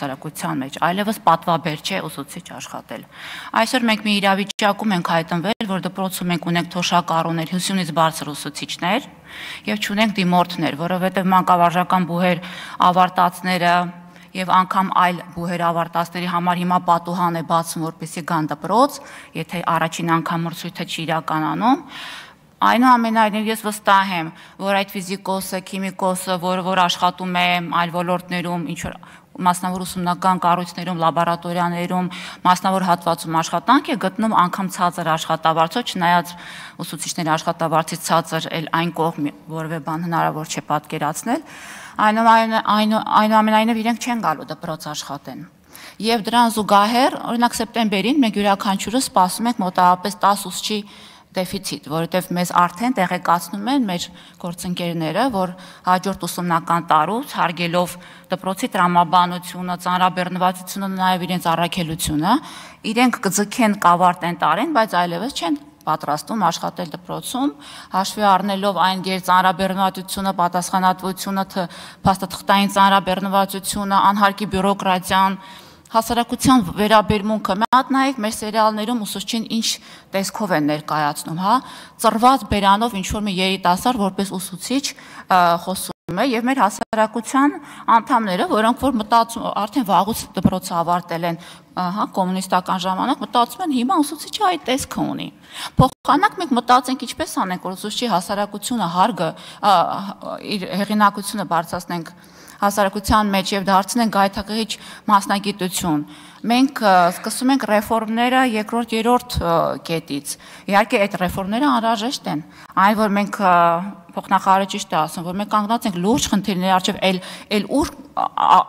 հասարակության մեջ, այլևս պատվաբեր չէ ուսուցիչ աշխատել։ Այսօր մենք մի իրավիճակում ենք հայտնվել, որ դպրոցում մենք ունենք թոշակառուներ, 50-ից բարձր ուսուցիչներ եւ չունենք դիմորդներ, որովհետեւ մանկավարժական բուհեր ավարտածները եւ անգամ այլ բուհեր ավարտածների համար հիմա պատուհան է բացում, որպեսզի գան դպրոց, եթե առաջին անգամ մրցույթը չի իրականանում։ Այնուամենայնիվ ես վստահ եմ, որ այդ ֆիզիկոսը, քիմիկոսը, որ աշխատում է այլ ոլորտներում, ինչ որ մասնավոր ուսումնական կառույցներում, լաբորատորիաներում, մասնավոր հատվածում աշխատանք է գտնում անգամ ցածր աշխատավարձով, չնայած ուսուցիչների աշխատավարձից ցածր էլ այն կողմ որևէ բան հնարավոր չէ պատկերացնել, այնուամենայնիվ իրենք չեն գալու դպրոց աշխատեն։ Եվ դրան զուգահեռ, օրինակ սեպտեմբերին մենք յուրաքանչյուրը սպասում ենք մոտավորապես 10 ուսուցչի դեֆիցիտ, որովհետև մեզ արդեն տեղեկացնում են մեր գործընկերները, որ հաջորդ ուսումնական տարուց հարգելով դպրոցի տրամաբանությունը, ծանրաբեռնվածությունը, նաև իրենց առաքելությունը, իրենք կձգեն կավարտեն տարին, բայց այլևս չեն պատրաստում աշխատել դպրոցում, հաշվի առնելով այն ծանրաբեռնվածությունը, պատասխանատվությունը, փաստաթղթային ծանրաբեռնվածությունը, անհարկի բյուրոկրատիան, հասարակության վերաբերմունքը, մի հատ նայեք մեր սերիալներում ուսուցչին ինչ տեսքով են ներկայացնում, հա, ծռված բերանով ինչ-որ մի երիտասարդ որպես ուսուցիչ խոսում է եւ մեր հասարակության անդամները, որոնք որ մտածում արդեն վաղուց դպրոցը ավարտել են, հա, կոմունիստական ժամանակ մտածում են հիմա ուսուցիչը այդ տեսքը ունի։ Փոխանակ մենք մտածենք ինչպես անենք, որ ուսուցչի հասարակությունը հարգը իր հեղինակությունը բարձրացնենք հասարակության մեջ եւ դարձնենք գայթակղիչ մասնագիտություն։ Մենք սկսում ենք ռեֆորմները երկրորդ, երրորդ կետից։ Իհարկե այդ ռեֆորմները անհրաժեշտ են։ Այն որ մենք փոխնախարարը ճիշտ է ասում, որ մենք կանգնած ենք լուրջ խնդիրների առջև, այլ ուր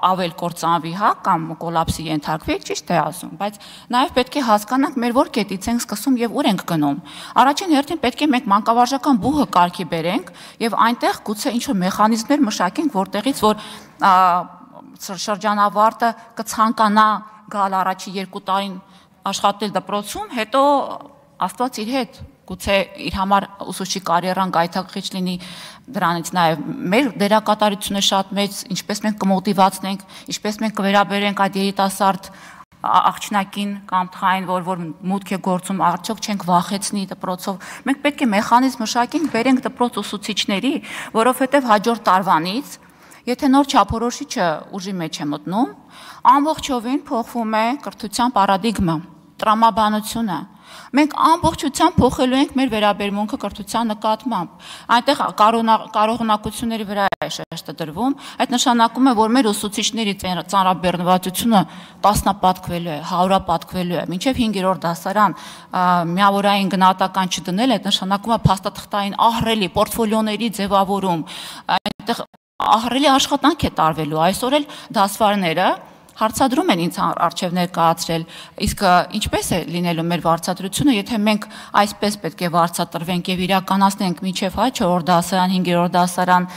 ավել կործանվի, հա, կամ կոլապսի ենթարկվի, ճիշտ է ասում, բայց նաև պետք է հասկանանք մեր որ կետից ենք սկսում եւ ուր ենք գնում։ Առաջին հերթին պետք է մենք մանկավարժական բուհը կարգի բերենք եւ այնտեղ գուցե ինչ-որ մեխանիզմներ մշակենք, որտեղից որ շրջանավարտը կցանկանա գալ առաջի 2 տարին աշխատել դպրոցում, հետո Աստված իր հետ գուցե իր համար ուսուցչի կարիերան գայթակղիչ լինի, դրանից նաև մեր դերակատարությունը շատ մեծ, ինչպես մենք կմոտիվացնենք, ինչպես մենք կվերաբերենք այդ երիտասարդ աղջնակին կամ թխային, որ մուտք է գործում, արդյոք չենք վախեցնի դպրոցով։ Մենք պետք է մեխանիզմ մշակենք, բերենք դպրոց ուսուցիչների, որովհետև հաջորդ տարվանից, եթե նոր չափորոշիչը ուժի մեջ է մտնում, ամբողջովին փոխվում է կրթության պարադիգմա, տրամաբանությունը։ Մենք ամբողջությամբ փոխելու ենք մեր վերաբերմունքը կրթության նկատմամբ։ Այնտեղ կարողունակությունների վրա է շեշտը դրվում, այդ նշանակում է, որ մեր ուսուցիչների ծանրաբեռնվածությունը տասնապատկվելու է, հարյուրապատկվելու է, մինչև 5-րդ դասարան միավորային գնահատական չդնել, այդ նշանակում է փաստաթղթային ահռելի պորտֆոլիոների ձևավորում, այնտեղ ահռելի աշխատանք է տարվելու, այսօր էլ դասվարները հարցադրում են ինձ առջև ներկայացրել, իսկ ինչպես է լինելու մեր վարձատրությունը, եթե մենք այսպես պետք է վարձատրվենք եւ իրականացնենք մինչեւ 4-րդ դասարան, 5-րդ դասարան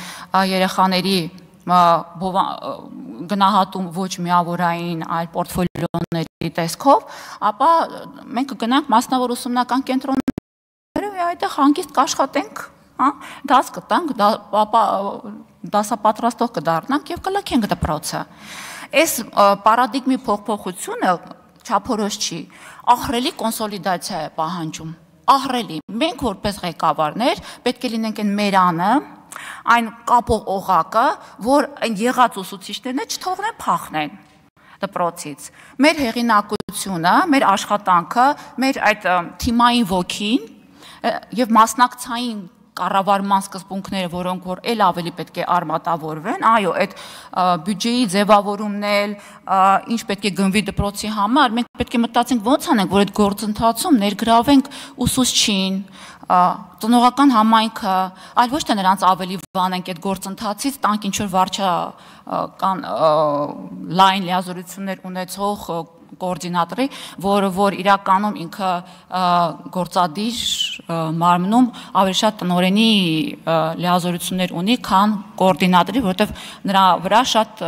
երեխաների գնահատում ոչ միավորային, այլ պորտֆոլիոների տեսքով, ապա մենք կգնանք մասնավոր ուսումնական կենտրոններով եւ այդտեղ հանգիստ կաշխատենք, հա, դաս կտանք, ապա դասապատրաստող կդառնանք եւ կլքենք դպրոցը։ Այս պարադիգմի փոփոխությունը չափորոշ չի, ահռելի կոնսոլիդացիա է պահանջում, ահռելի։ Մենք որպես ղեկավարներ պետք է լինենք այն մերանը, այն կապող օղակը, որ այն եղած ուսուցիչներն չթողնեն փախնեն դպրոցից։ Մեր հեղինակությունը, մեր աշխատանքը, մեր այդ թիմային ոգին եւ մասնակցային կառավարման սկզբունքները, որոնք որ էլ ավելի պետք է արմատավորվեն, այո, այդ բյուջեի ձևավորումն էլ, ինչ պետք է գնվի դպրոցի համար, մենք պետք է մտածենք ոնց անենք, որ այդ գործընթացում ներգրավենք ուսուցչին, ծնողական համայնքը, այլ ոչ թե նրանց ավելի վանենք այդ գործընթացից, տանք ինչ-որ վարչական լայն լիազորություններ ունեցող կոորդինատորի, որը որ իրականում ինքը գործադիր մարմնում ավելի շատ տնօրենի լիազորություններ ունի, քան կոորդինատորի, որովհետև նրա վրա շատ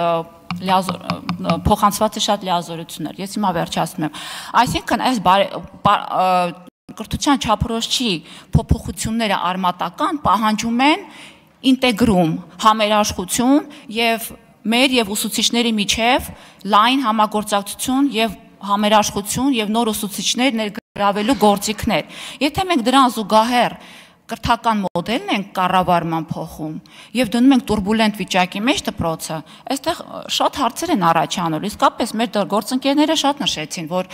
փոխանցված է շատ լիազորություններ։ Ես հիմա վերջացնում եմ։ Այսինքն այս կրթության չափորոշիչի փոփոխությունները արմատական պահանջում են ինտեգրում, համերաշխություն եւ մեր եւ ուսուցիչների միջև լայն համագործակցություն եւ համերաշխություն եւ նոր ուսուցիչներ ներգրավելու գործիքներ։ Եթե մենք դրան զուգահեռ կրթական մոդելն ենք կառավարման փոխում եւ դնում ենք турբուլենտ վիճակի մեջ դպրոցը, այստեղ շատ հարցեր են առաջանում։ Իսկապես մեր գործընկերները շատ նշեցին, որ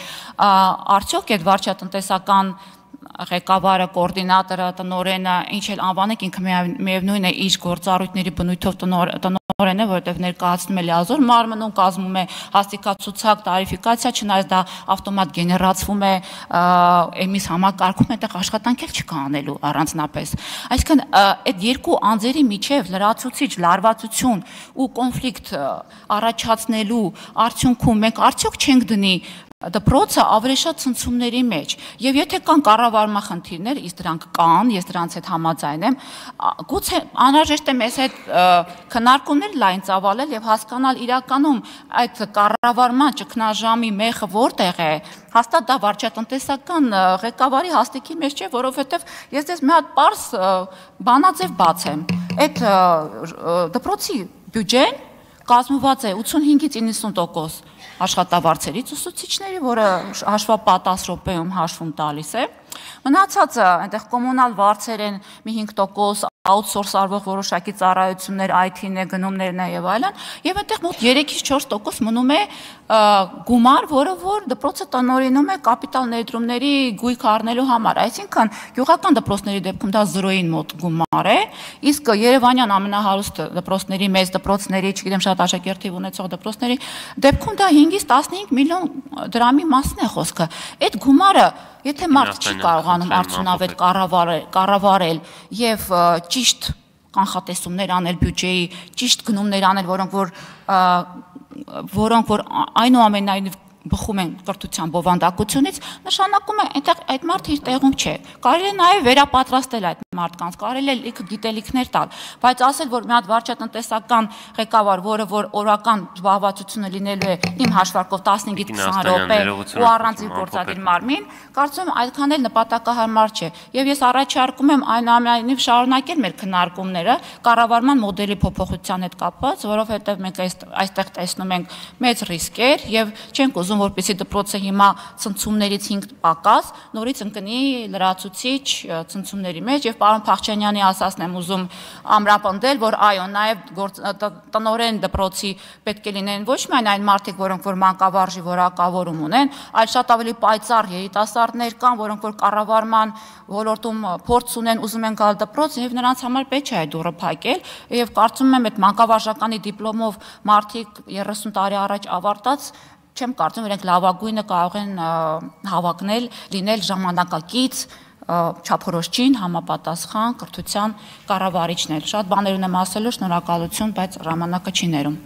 արդյոք այդ վարչատնտեսական ղեկավարը, կոորդինատորը, տնօրենը, ինչ էլ անվանեք, ինքը միևնույն է իր գործառույթների բնույթով տնօրեն է, որովհետև ներկայացնում է լիազոր մարմնում, կազմում է հաստիկացուցակ, տարիֆիկացիա, չնայած դա ավտոմատ գեներացվում է էմիս համակարգում, այդտեղ աշխատանք էլ չկա անելու առանձնապես։ Այսինքն այդ երկու անձերի միջև լրացուցիչ լարվածություն ու կոնֆլիկտ առաջացնելու արդյունքում մենք արդյոք չենք դնի դպրոցը ավելի շատ ցնցումների մեջ, եւ եթե կան կառավարման խնդիրներ, իսկ դրանք կան, ես դրանց հետ համաձայն եմ, գուցե անհրաժեշտ է մեզ հետ քննարկումներ լայն ծավալել եւ հասկանալ իրականում այդ կառավարման ճգնաժամի մեխը որտեղ է, հաստատ դա վարչատնտեսական ղեկավարի հաստիքի մեջ չէ, որովհետեւ ես դες մի հատ պարզ բանաձև բացեմ, այդ դպրոցի բյուջեն կազմված է 85-ից 90% աշխատավարձերից ուսուցիչների, որը հաշվապատաս րոպեում հաշվում տալիս է, մնացածը այնտեղ կոմունալ վարձեր են մի 5%, outsource արվող որոշակի ծառայություններ, IT-ն է, գնումներն է եւ այլն, եւ այնտեղ մոտ 3-ից 4% մնում է գումար, որը որ դպրոցը տնօրինում է կապիտալ ներդրումների գույք առնելու համար, այսինքն գյուղական դպրոցների դեպքում դա 0-ին մոտ գումար է, իսկ Երևանյան ամենահարուստ դպրոցների, մեծ դպրոցների, չգիտեմ շատ աշակերտի ունեցող դպրոցների դեպքում դա 5-ից 15 միլիոն դրամի մասն է խոսքը։ Այդ գումարը, եթե մարդ չի կարողանում արդյունավետ կառավարել եւ ճիշտ կանխատեսումներ անել բյուջեի, ճիշտ գնումներ անել, որոնք որ այնուամենայնիվ բխում են կրթության բովանդակությունից, նշանակում է այնտեղ այդ մարդը իր տեղում չէ։ Կարելի է նաև վերապատրաստել այդ մարդկանց, կարելի է լիքը գիտելիքներ տալ, բայց ասել, որ մի հատ վարչատնտեսական ղեկավար, որը որ օրական զբաղվածությունը լինելու է իմ հաշվարկով 15-ից 20 րոպե ու առանց իր գործադիր մարմին, կարծում եմ այդքան էլ նպատակահարմար չէ։ Եվ ես առաջարկում եմ այնուամենայնիվ շարունակել մեր քննարկումները կառավարման մոդելի փոփոխության հետ կապված, որովհետև մենք այստեղ տեսնում ենք մեծ ռիսկեր եւ չենք ուզում որպեսզի դպրոցը հիմա ցնցումներից 5 պակաս նորից ընկնի լրացուցիչ ցնցումների մեջ եւ պարոն Փախչյանյանի ասածն եմ ուզում ամրապնդել, որ այո, նաեւ տնօրեն դպրոցի պետք է լինեն ոչ միայն այն մարդիկ, որոնք որ մանկավարժի որակավորում ունեն, այլ շատ ավելի պայծառ երիտասարդներ կան, որոնք որ կառավարման ոլորտում փորձ ունեն, ուզում են գալ դպրոց եւ նրանց համար պետք է այդ դուռը փակել եւ կարծում եմ այդ մանկավարժականի դիպլոմով մարդիկ 30 տարի առաջ ավարտած չեմ կարծում իրենք լավագույնը կարող են հավակնել, լինել ժամանակակից, չափորոշչին, համապատասխան կրթության կառավարիչներ։ Շատ բաներ ունեմ ասելու, շնորհակալություն, բայց ժամանակը չի ներում։